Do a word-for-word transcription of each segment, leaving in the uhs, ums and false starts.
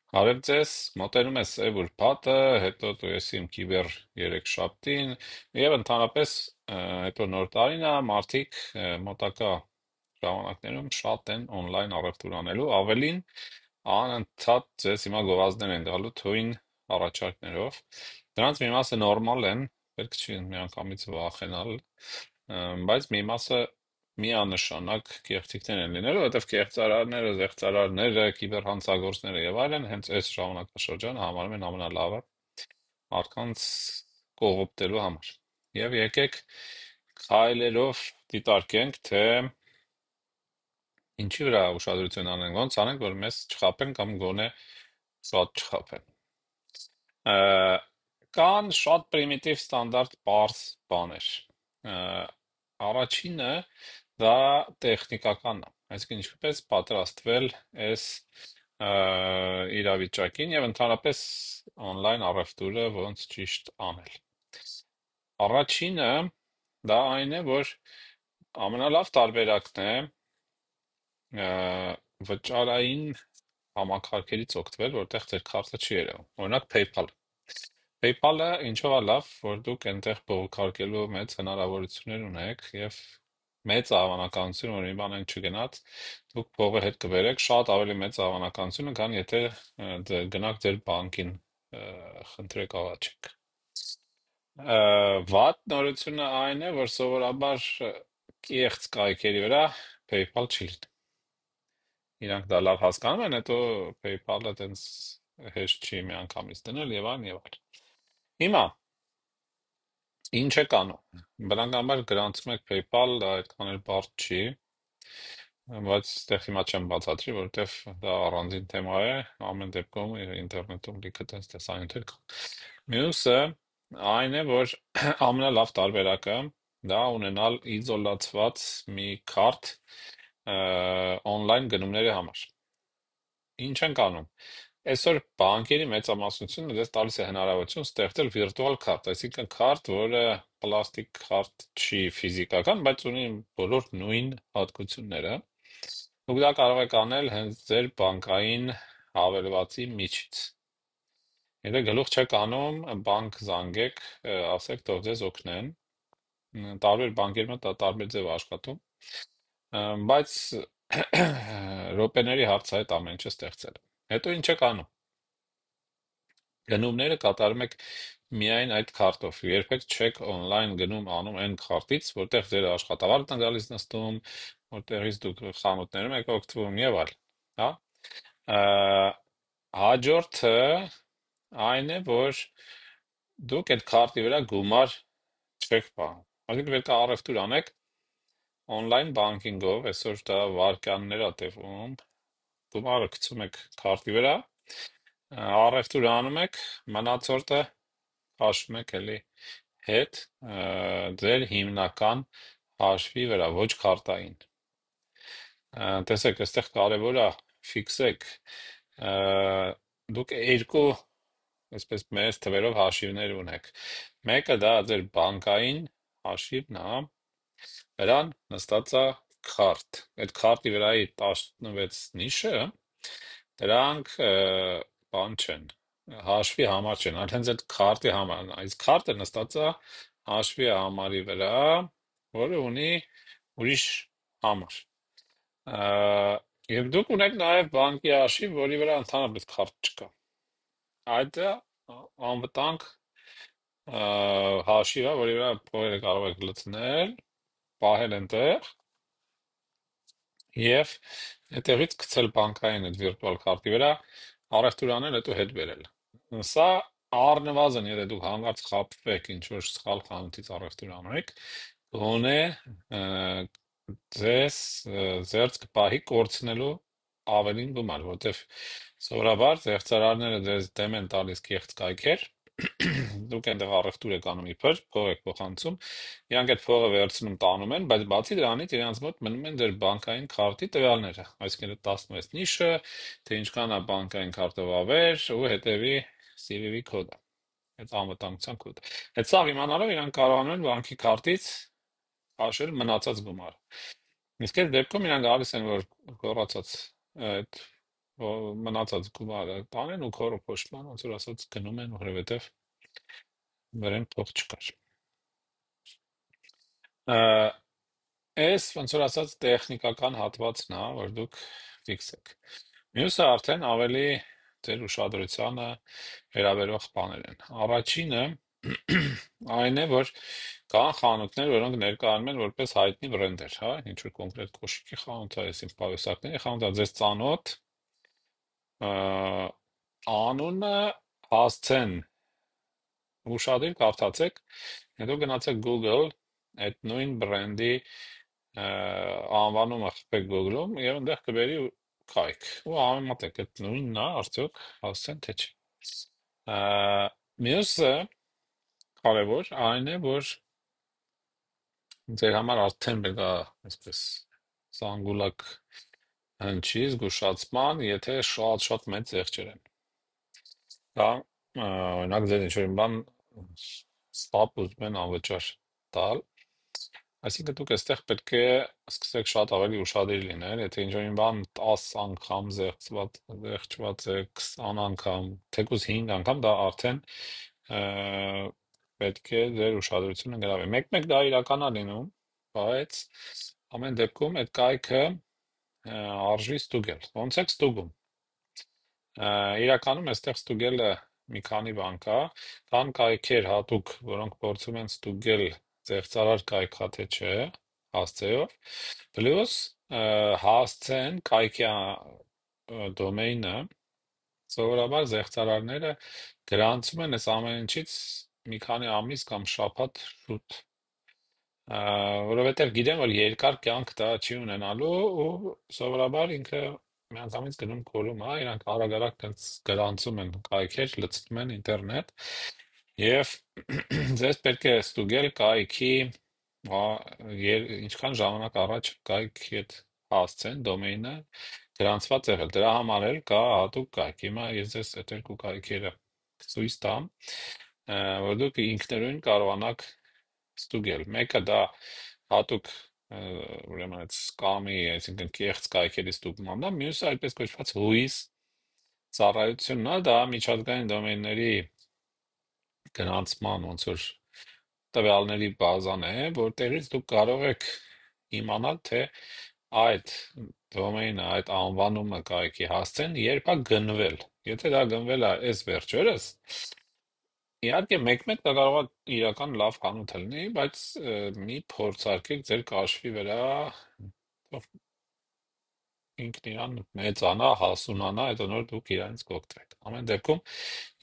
Հարև ձեզ, մոտենում է սև ուրբաթը, հետո դու ես իմ կիբեր երեքշաբթին, եւ ընդհանրապես ը, հետո նոր տարին է, մարդիկ ը, մոտակա ժամանակներում շատ են on-line առևտուր անելու, ավելին անընդհատ ձեզ հիմա գովազդներ են գալու թույն առաջարկներով։ Դրանց մի մասը նորմալ են, պետք չի միանգամից վախենալ, ը, բայց մի մասը միանշանակ կեղծիքներ են լինելու, որովհետև կեղծարարները, զեղծարարները, կիբերհանցագործները եւ այլն հենց այս ժամանակաշրջանը համարում են ամենալավը մարդկանց կողոպտելու համար։ Եվ եկեք քայլերով դիտարկենք, թե ինչի վրա ուշադրություն անենք, ոնց անենք, որ մեզ չխապեն կամ գոնե շատ չխապեն։ Ա, Կան շատ պրիմիտիվ ստանդարտ պարզ բաներ։ Ա, Առաջինը դա տեխնիկականն է, այսինքն ինչպես պատրաստվել այս ա, իրավիճակին եւ ընդհանրապես on-line առևտուրը ոնց ճիշտ անել։ Առաջինը դա այն է, որ ամենալավ տարբերակն է ա, վճարային համակարգերից օգտվել, որտեղ ձեր քարտը չի երևում։ Օրինակ PayPal։ PayPal-ը ինչով է լավ, որ դուք այնտեղ բողոքարկելու մեծ հնարավորություններ ունեք եւ մեծ հավանականություն, որ մի բան այն չգնաց, դուք փողը հետ կբերեք, շատ ավելի մեծ հավանականություն, քան եթե ը, դ- գնաք ձեր բանկին ը, խնդրեք աղաչեք։ Ը, Վատ նորությունը այն է, որ սովորաբար ը, կեղծ կայքերի վրա PayPal չի լինի։ Իրանք դա լավ հասկանում են, հետո PayPal-ը տենց հեշտ չի միանգամից դնել եւ այլն եւ այլն։ Հիմա ինչ է կանում։ Բնականաբար գրանցում եք PayPal, դա այդքան էլ բարդ չի, բայց այստեղ հիմա չեմ բացատրի, որովհետեւ դա առանձին թեմա է, ամեն դեպքում ինտերնետում լիքը տես տեսանյութեր կան։ Մյուսը այն է, որ ամենալավ տարբերակը դա ունենալ իզոլացված մի քարտ on-line գնումների համար։ Ինչ ենք անում։ Այսօր բանկերի մեծամասնությունը դες տալիս է հնարավորություն ստեղծել վիրտուալ քարտ, այսինքն քարտ, որը պլաստիկ քարտ չի ֆիզիկական, բայց ունի բոլոր նույն հատկությունները։ Դուք դա կարող եք անել հենց ձեր բանկային հավելվածի միջից։ Եթե գլուխ չեք րանում, բանկ զանգեք, ը, ասեք թող ձեզ օգնեն։ Մ, Տարբեր բանկերում է դա տարբեր ձև աշխատում, ը, բայց րոպեների հարց է այդ ամեն ինչը ստեղծել։ Հետո ինչ եք անում։ Գնումները կատարում եք միայն այդ քարտով։ Երբեք չեք on-line գնում անում այն քարտից, որտեղ ձեր աշխատավարձն է գալիս նստում, որտեղից դուք խանութներում եք օգտվում եւ այլ, հա։ Ա, Հաջորդը այն է, որ դուք այդ քարտի վրա գումար չեք պահում։ Այսինքն պետք է առևտուր անեք on-line banking-ով, այսօր դա վարկաններ է տևում, գումարը գցում եք քարտի վրա, առևտուր անում եք, մնացորդը հաշվում եք էլի հետ ը, ձեր հիմնական հաշվի վրա, ոչ քարտային։ Ա, Տեսեք, այստեղ կարևոր է ֆիքսեք, ը, դուք երկու, այսպես մեծ թվերով հաշիվներ ունեք։ Մեկը դա ձեր բանկային հաշիվն է, դրան նստած է քարտ։ Այդ քարտի վրայի տասնվեց նիշը, դրանք ը, բան չեն, հաշվի համար չեն, այլ հենց այդ քարտի համարն է։ Այս քարտը նստած է հաշվի համարի վրա, որը ունի ուրիշ համար։ Ա, Եվ դուք ունեք նաև բանկի հաշիվ, որի վրա ընդհանրապես քարտ չկա։ Այդ է անվտանգ ա, հաշիվը, որի վրա փողերը կարող եք լցնել, պահել այնտեղ եւ այդտեղից գցել բանկային այդ վիրտուալ քարտի վրա, առևտուր անել, հետո հետ բերել։ Սա առնվազն, եթե դուք հանկարծ խաբվեք ինչ-որ սխալ խանութից առևտուր անեք, գոնե ը, ձեզ ը, ձերծ կպահի կորցնելու ավելին գումար, որտեվ սովորաբար զեղծարարները ձեզ դեմ են տալիս կեղծ կայքեր, դուք այնտեղ առևտուր եք անում իբր, փող եք փոխանցում, իրանք այդ փողը վերցնում տանում են, բայց բացի դրանից իրանց մոտ մնում են ձեր բանկային քարտի տվյալները, այսինքն այդ տասնվեց նիշը, թե ինչքան է բանկային քարտով ավեր ու հետևի C V V կոդը, այդ անվտանգության կոդը։ Այդ սաղ իմանալով իրանք կարողանում են բանկի քարտից քաշել մնացած գումարը։ Իսկ այդ դեպքում իրանք գալիս են, որ գոռացած այդ ո- մնացած գումարը տանեն ու քորը փոշման ոնց որ ասած գնում են, որովհետև վրան փող չկար։ Ա, Էս ոնց որ ասած տեխնիկական հատվածն է, որ դուք ֆիքսեք։ Մյուսը արդեն ավելի ձեր ուշադրությանը վերաբերող բաներ են։ Առաջինը այն է, որ կան խանութներ, որոնք ներկայանում են որպես հայտնի բրենդեր, հա, ինչ որ կոնկրետ կոշիկի խանութ է, այսինքն պայուսակների խանութ է, ձեզ ծանոթ, ա, անունը հասցեն ուշադիր կարդացեք, հետո գնացեք Google, այդ նույն բրենդի ա, անվանումը խփեք Google-ում եւ այնտեղ կբերի կայք։ Ու համեմատեք այդ նույնն է, արդյոք հասցեն թե չէ։ Ա, Մյուսը կարևոր այն է, որ ձեր համար արդեն պետք է այսպես զանգուլակ հնչի զգուշացման, եթե շատ-շատ մեծ զեղչեր են։ Դա ա, օրինակ ձեր ինչ-որ մի բան ստապ ուզում են անվճար տալ, այսինքն դուք այստեղ պետք է սկսեք շատ ավելի ուշադիր լինել, եթե ինչ-որ մի բան տասը անգամ զեղծված զեղչված է, քսան անգամ, թեկուզ հինգ անգամ, դա արդեն ա, պետք է ձեր ուշադրությունը գրավի։ Մեկ-մեկ դա իրական է լինում, բայց ամեն դեպքում այդ կայքը ա, արժի ստուգել։ Ոնց եք ստուգում։ Ա, Իրականում այստեղ ստուգելը մի քանի բան կա, կան կայքեր հատուկ, որոնք փորձում են ստուգել ձեղծարար կայքա թե չէ, հասցեով, պլյուս ա, հասցեն կայքի ա, դոմեյնը, սովորաբար զեղծարարները գրանցում են այս ամեն ինչից մի քանի ամիս կամ շաբաթ շուտ, ա, որովհետև գիտեն, որ երկար կյանք դա չի ունենալու ու սովորաբար ինքը միանգամից գնում կորում, հա, իրանք արագ-արագ տենց գրանցում են կայքեր, լցնում են ինտերնետ եւ ձեզ պետք է ստուգել կայքի ա, եր- ինչքան ժամանակ առաջ կայքի հետ հասցեն դոմեյնը գրանցված եղել։ Դրա համար էլ կա հատուկ կայք։ Հիմա ես ձեզ այդ երկու կայքերը ցույց տամ, ա, որ դուք ինքնուրույն կարողանաք ստուգել։ Մեկը դա հատուկ ա, ուրեմն այդ սկամի, այսինքն կեղծ կայքերի ստուգմանն է, մյուսը այդպես կոչված հույս ծառայությունն է, դա միջազգային դոմեյնների գրանցման ոնց որ տվյալների բազան է, որտեղից դուք կարող եք իմանալ, թե այդ դոմեյնը, այդ անվանումը կայքի հասցեն, երբ է գնվել։ Եթե դա գնվել է այս վերջերս, իհարկե մեկ-մեկ դա կարող է իրական լավ խանութ լինի, բայց ը, մի փորձարկեք ձեր կաշվի վրա, թող ինքն իրան մեծանա, հասունանա, հետո նոր դուք իրանից կօգտվեք։ Ամեն դեպքում,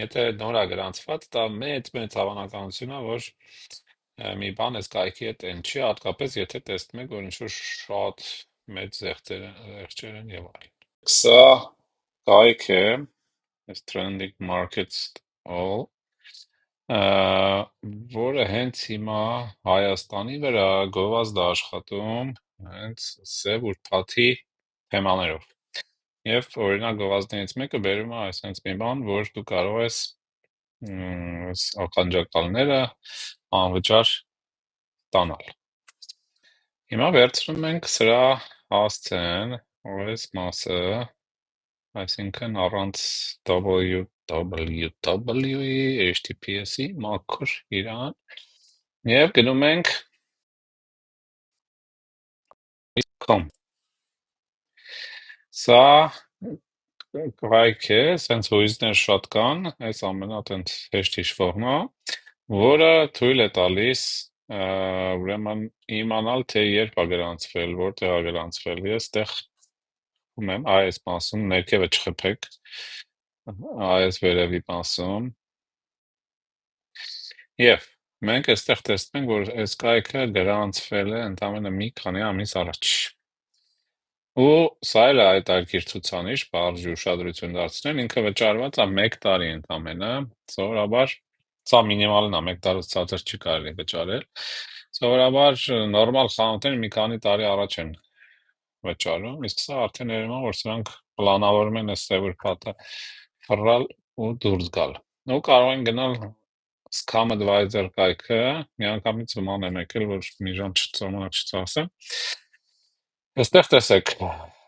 եթե նոր է գրանցված, դա մեծ-մեծ հավանականություն է, որ ը, մի բան այս կայքի հետ են չի, հատկապես եթե տեսնում եք, որ ինչ-որ շատ մեծ զեղծեր են, զեղչեր են եւ այլն։ Սա կայք է, այս Trending Markets All, ը, որը հենց հիմա Հայաստանի վրա գովազդ է աշխատում հենց սև ուրբաթի թեմաներով։ Եվ օրինակ գովազդներից մեկը բերում է այսպես մի բան, որ դու կարող ես մ, այս ականջակալները անվճար ստանալ։ Հիմա վերցնում ենք սրա հասցեն, այս մասը, այսինքն առանց www-ի, H T T P S-ի, մաքուր իրան, եւ գնում ենք com։ Սա կայք է, սենց հույզներ շատ կան, այս ամենա տենց հեշտ հիշվողն է, որը թույլ է տալիս ա, ուրեմն իմանալ, թե երբ է գրանցվել, որտեղ է գրանցվել։ Ես տեղ ունեմ այս մասում, ներքևը չխփեք, այս վերևի մասում, եւ մենք այստեղ տեսնում ենք, որ այս կայքը գրանցվել է ընդամենը մի քանի ամիս առաջ։ Ու սա էլ է այդ արգիր ցուցանիշ, բարձր ուշադրություն դարձնել, ինքը վճարված է մեկ տարի ընդամենը, սովորաբար սա մինիմալն է, մեկ տարուց ցածր չի կարելի վճարել։ Սովորաբար նորմալ խանութները մի քանի տարի առաջ են վճարում, իսկ սա արդեն երևում է, որ սրանք պլանավորում են այս սևուրփաթը ֆռալ ու դուրս գալ։ Ու կարող են գնալ Scam Advisor կայքը, միանգամից ման եմ եկել, որ մի ժամ ժամանակ չծախսեմ։ Այստեղ տեսեք,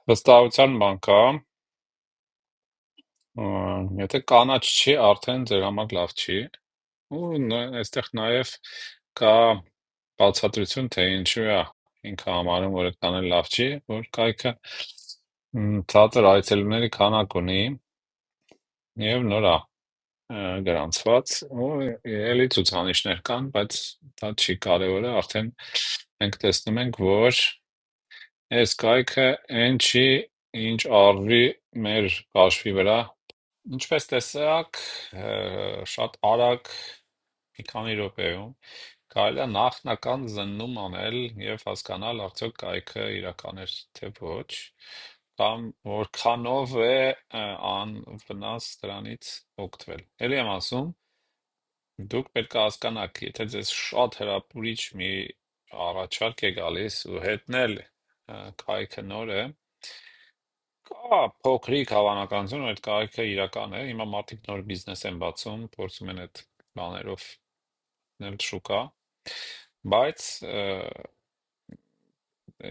վստահության բան կա, Ա, Եթե կանաչ չի, արդեն ձեր համար լավ չի։ Ու ն- այստեղ նաև կա բացատրություն, թե ինչու է ինքը համարում, որ այդքան էլ լավ չի, որ կայքը մ, ցածր այցելուների քանակ ունի եւ նոր է ը, գրանցված ու էլի ցուցանիշներ կան, բայց դա չի կարևորը, արդեն մենք տեսնում ենք, որ այս կայքը այն չի, ինչ արվի մեր հաշվի վրա։ Ինչպես տեսակ, ը, շատ արագ մի քանի րոպեում կարելի է նախնական զննում անել եւ հասկանալ արդյոք կայքը իրական է թե ոչ, կամ որքանով է ը, անվնաս դրանից օգտվել։ Էլի եմ ասում, դուք պետք է հասկանաք, եթե ձեզ շատ հրապուրիչ մի առաջարկ է գալիս ու հետնել ը, կայքը նոր է, կա փոքրիկ հավանականություն, որ այդ կայքը իրական է։ Հիմա մարդիկ նոր բիզնես են բացում, փորձում են այդ բաներով նել շուկա, բայց ը,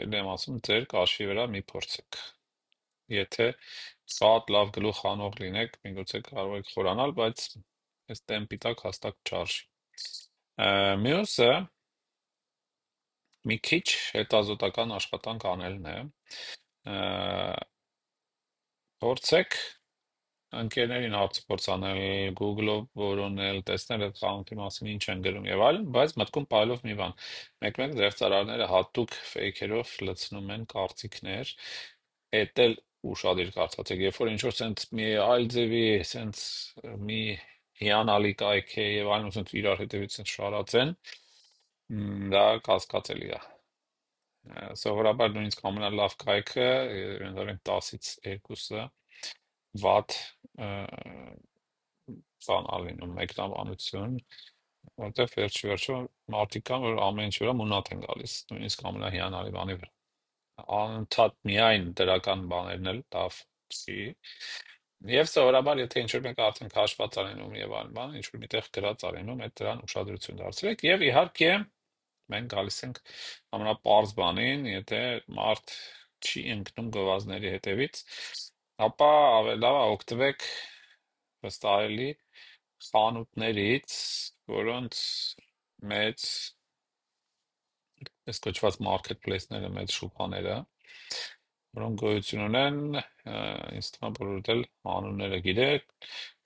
էլ եմ ասում, ձեր կաշվի վրա մի փորձեք։ Եթե շատ լավ գլուխ անող լինեք, միգուցե կարող եք խորանալ, բայց այս տեմպի տակ հաստատ չարժի։ Ա, Մյուսը մի քիչ հետազոտական աշխատանք անելն է։ Ա, Փորձեք ընկերներին հարցուփորձ անել, Google-ով որոնել, տեսնել այդ խանութի մասին ինչ են գրում եւ այլն, բայց մտքում պահելով մի բան։ Մեկ-մեկ զեղծարարները հատուկ ֆեյքերով լցնում են կարծիքներ, էդ էլ ուշադիր կարծացեք, երբ որ ինչ-որ sense մի այլ ձևի, sense մի հիանալի կայք է եւ այլն, sense իրար հետևից sense շարածեն, մ, դա կասկածելի է։ Ա, Սովորաբար նույնիսկ ամենալավ կայքը, ընդհանրեն տասից երկուսը վատ բան ա լինում, մեկնաբանություն, որտեղ վերջի վերջո մարդիկ կան, որ ամեն ինչի վրա մունատ են գալիս, նույնիսկ ամենահիանալի բանի վրա։ Անընդհատ միայն դրական բաներն էլ լավ չի։ Եվ սովորաբար, եթե ինչ-որ մեկը արդեն քաշված ա լինում եւ այլն բան, ինչ-որ միտեղ գրած ա լինում, այդ դրան ուշադրություն դարձրեք եւ իհարկե մենք գալիս ենք ամենապարզ բանին, եթե մարդ չի ընկնում գովազդների հետևից, ապա ավելի լավ է օգտվեք վստահելի խանութներից, որոնց մեծ, այս կոչված marketplace-ները, մեծ շուկաները, որոնք գոյություն ունեն, ը, ինձ թվում է բոլորդ էլ անունները գիտեք,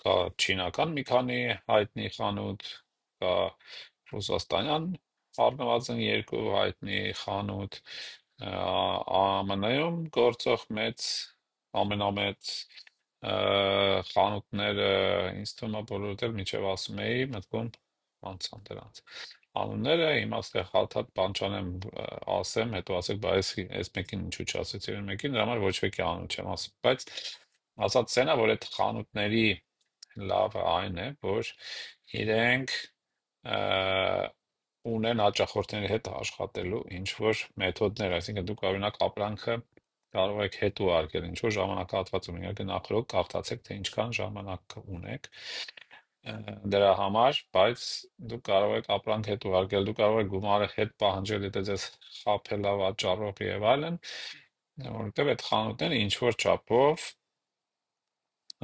կա չինական մի քանի հայտնի խանութ, կա ռուսաստանյան առնվազն երկու հայտնի խանութ, ը, ԱՄՆ-ում գործող մեծ, ամենամեծ ը, խանութները, ինձ թվում է բոլորդ էլ միջև ասում էի, մտքում անցան դրանց անունները, հիմա ստեղ հատ-հատ բան չանեմ, ը, ասեմ, հետո ասեք, բա այս այս մեկին ինչու չասեցի, այն մեկին, դրա համար ոչ մեկի անուն չեմ ասում, բայց ասած սենա, որ այդ խանութների լավը այն է, որ իրենք ը, ունեն հաճախորդների հետ աշխատելու ինչ որ մեթոդներ, այսինքն դուք օրինակ ապրանքը կարող եք հետ ուղարկել ինչ որ ժամանակահատվածում, իհարկե նախորդ կարդացեք, թե ինչքան ժամանակ ունեք ը, դրա համար, բայց դուք կարող եք ապրանք հետ ուղարկել, դուք կարող եք գումարը հետ պահանջել, եթե ձեզ խաբել ա վաճառող եւ այլն, որովհետեւ այդ խանութները ինչ որ չափով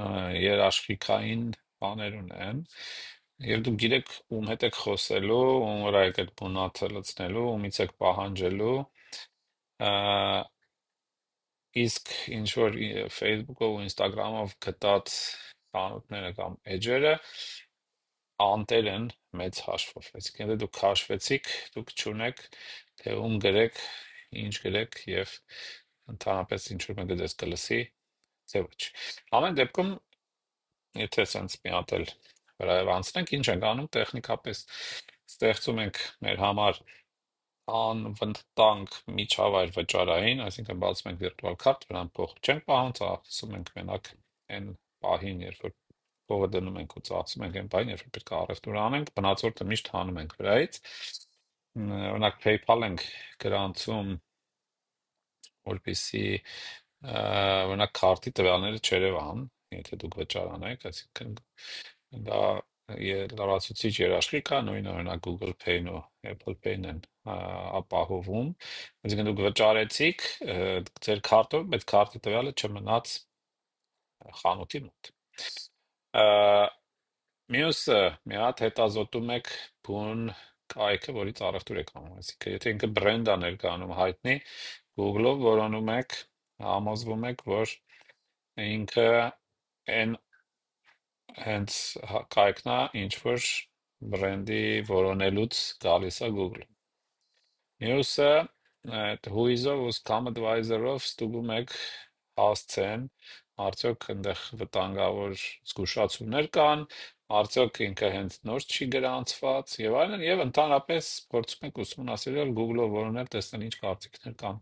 ը, երաշխիքային բաներ ունեն եւ դուք գիտեք ում հետ եք խոսելու, ում վրա եք այդ բունաթը լցնելու, ումից եք պահանջելու, ը, իսկ ինչ որ ի- Facebook-ով ու Instagram-ով գտած խանութները կամ էջերը անտեր են մեծ հաշվով, այսինքն եթե դուք քաշվեցիք, դուք չունեք թե ում գրեք, ինչ գրեք եւ ընդհանրապես ինչ որ մեկը ձեզ կլսի, թե ոչ։ Ամեն դեպքում, եթե sense մի հատ էլ վրայով անցնենք, ինչ ենք անում, տեխնիկապես ստեղծում ենք մեր համար անվտանգ միջավայր վճարային, այսինքն բացում ենք վիրտուալ քարտ, վրան փող չենք պահում, ծախսում ենք մենակ այն պահին, երբ որ փողը դնում ենք ու ծախսում ենք այն պահին, երբ որ պետք է առևտուր անենք, բնածորտը միշտ հանում ենք վրայից։ Մ, Օրինակ PayPal ենք գրանցում, որպեսզի ը, օրինակ քարտի տվյալները չերևան, եթե դուք վճարանեք, այսինքն դա ե- լրացուցիչ երաշխիք է, նույնը օրինակ Google Pay-ն ու Apple Pay-ն են ա, ապահովում, այսինքն դուք վճարեցիք ը, ձեր քարտով, բայց քարտի տվյալը չմնաց խանութի մոտ։ Ա, Մյուսը մի հատ հետազոտում եք բուն կայքը, որից առևտուր եք անում, այսինքն եթե ինքը բրենդ է ներկայանում հայտնի, Google-ով որոնում եք, համոզվում եք, որ ինքը այն հենց հա- կայքն է, ինչ որ բրենդի որոնելուց գալիս է Google։ Մյուսը այդ հույզով ու Scam Advisor-ով ստուգում եք հասցեն, արդյոք այնտեղ վտանգավոր զգուշացումներ կան, արդյոք ինքը հենց նոր չի գրանցված եւ այլն, եւ ընդհանրապես փորձում եք ուսումնասիրել Google-ով որոնել, տեսնել ինչ կարծիքներ կան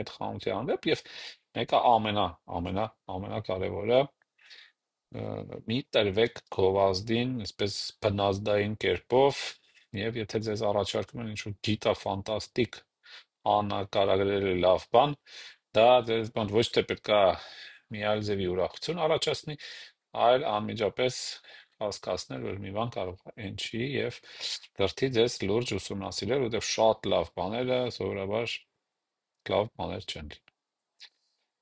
այդ խանութի հանդեպ եւ մեկը ամենա ամենա ամենակարևորը մի տրվեք գովազդին, այսպես բնազդային կերպով, եւ եթե ձեզ առաջարկում են ինչ-որ գիտա-ֆանտաստիկ անկարագրելի լավ բան, դա ձեզ բան ոչ թե պետքա մի այլ ձևի ուրախություն առաջացնի, այլ անմիջապես հասկացնել, որ մի բան կարող է այն չի եւ դրթի ձեզ լուրջ ուսումնասիրել, որովհետեւ շատ լավ բաները սովորաբար լավ բաներ չեն։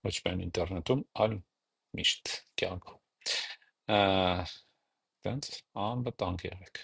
Ոչ միայն ինտերնետում, այլ միշտ կյանքում։ Ա, Տենց անվտանգ եղեք։